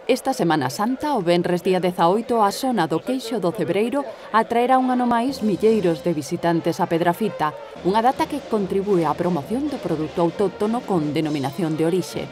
Esta Semana Santa, o venres día 18, a zona do Queixo do Cebreiro atraerá un ano máis milleiros de visitantes a Pedrafita, unha data que contribúe á promoción do produto autóctono con denominación de orixe.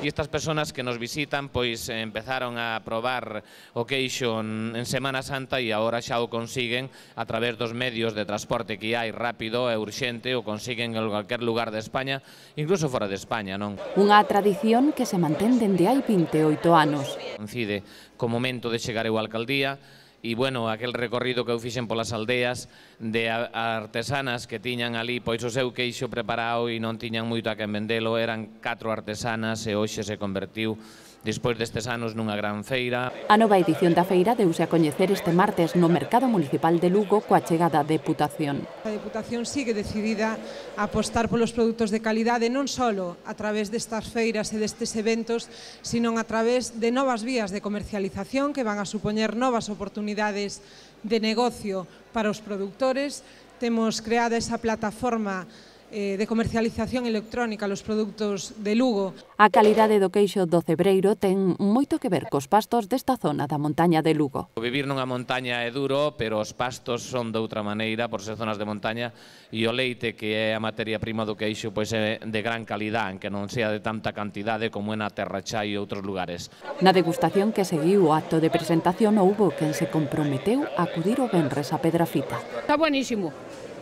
E estas persoas que nos visitan pois empezaron a probar o queixo en Semana Santa e agora xa o consiguen a través dos medios de transporte que hai rápido e urxente, o consiguen en calquer lugar de España, incluso fora de España, non? Unha tradición que se mantén dende hai 28 anos. Coincide co momento de chegar eu á alcaldía e, bueno, aquel recorrido que eu fixen polas aldeas de artesanas que tiñan ali pois o seu queixo preparado e non tiñan moito a quen vendelo, eran 4 artesanas e hoxe se convertiu, despois destes anos, nunha gran feira. A nova edición da feira deuse a coñecer este martes no Mercado Municipal de Lugo coa chegada da Deputación. A Deputación sigue decidida a apostar polos produtos de calidade non só a través destas feiras e destes eventos, sino a través de novas vías de comercialización que van a supoñer novas oportunidades de negocio para os produtores. Temos creada esa plataforma de comercialización electrónica los produtos de Lugo. A calidade do queixo do Cebreiro ten moito que ver cos pastos desta zona da montaña de Lugo. Vivir nunha montaña é duro, pero os pastos son de outra maneira, por ser zonas de montaña, e o leite, que é a materia prima do queixo, pois é de gran calidad, que non sea de tanta cantidade como é na Terra Chá e outros lugares. Na degustación que seguiu o acto de presentación houbo quen se comprometeu a acudir o venres a Pedrafita. Está buenísimo.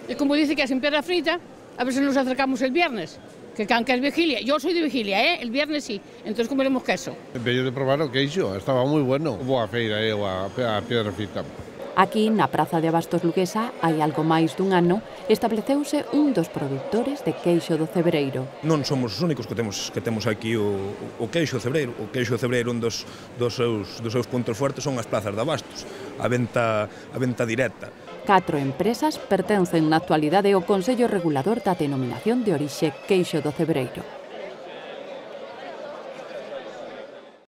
E como dice que é sin Pedrafita, a ver si nos acercamos el viernes, que es vigilia. Yo soy de vigilia, el viernes sí, entonces comeremos queso. Veio de probar o queixo, estaba moi bueno. Boa feira, a Pedrafita. Aquí, na Praza de Abastos Luguesa, hai algo máis dun ano, estableceuse un dos produtores de queixo do Cebreiro. Non somos os únicos que temos aquí o queixo Cebreiro. O queixo Cebreiro, un dos seus puntos fuertes son as plazas de abastos, a venta directa. 4 empresas pertencen na actualidade ao Consello Regulador da Denominación de Orixe Queixo do Cebreiro.